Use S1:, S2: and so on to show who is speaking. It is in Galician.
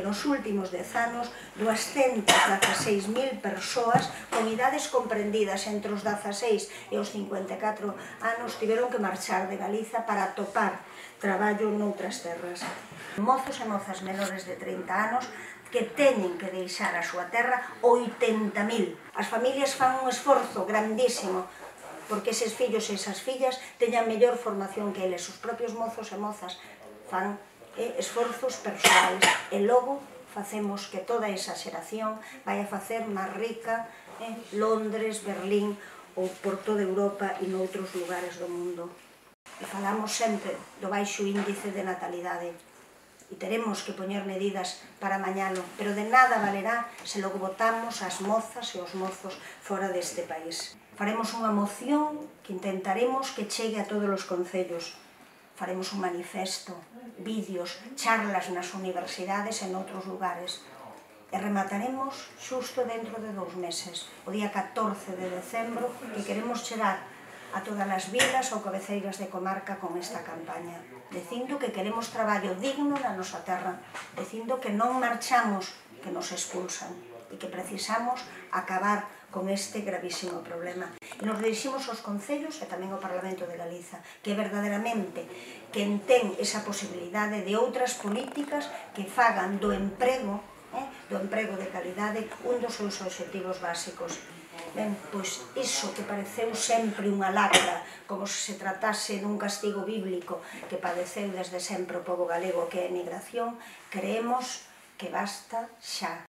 S1: Nos últimos 10 anos, 216.000 persoas con idades comprendidas entre os 16 e os 54 anos tiveron que marchar de Galiza para atopar traballo noutras terras. Mozos e mozas menores de 30 anos que teñen que deixar a súa terra, 80.000. As familias fan un esforzo grandísimo porque eses fillos e esas fillas teñan mellor formación que eles. Os propios mozos e mozas fan esforzos persoais e logo facemos que toda esa xeración vai a facer máis rica Londres, Berlín ou por toda Europa e noutros lugares do mundo. E falamos sempre do baixo índice de natalidade e teremos que poñer medidas para mañalo, pero de nada valerá se logo botamos as mozas e os mozos fora deste país. Faremos unha moción que intentaremos que chegue a todos os concellos. Faremos un manifesto, vídeos, charlas nas universidades e noutros lugares. E remataremos xusto dentro de 2 meses, o día 14 de decembro, que queremos chegar a todas as vilas ou cabeceiras de comarca con esta campaña, dicindo que queremos traballo digno na nosa terra, dicindo que non marchamos, que nos expulsan, e que precisamos acabar con este gravísimo problema. E nos diriximos aos concellos e tamén ao Parlamento de Galiza, que verdadeiramente quen ten esa posibilidade de outras políticas que fagan do emprego de calidade un dos seus obxectivos básicos. Ben, pois iso que pareceu sempre unha lacra, como se tratase dun castigo bíblico que padeceu desde sempre o pobo galego, que é a emigración, creemos que basta xa.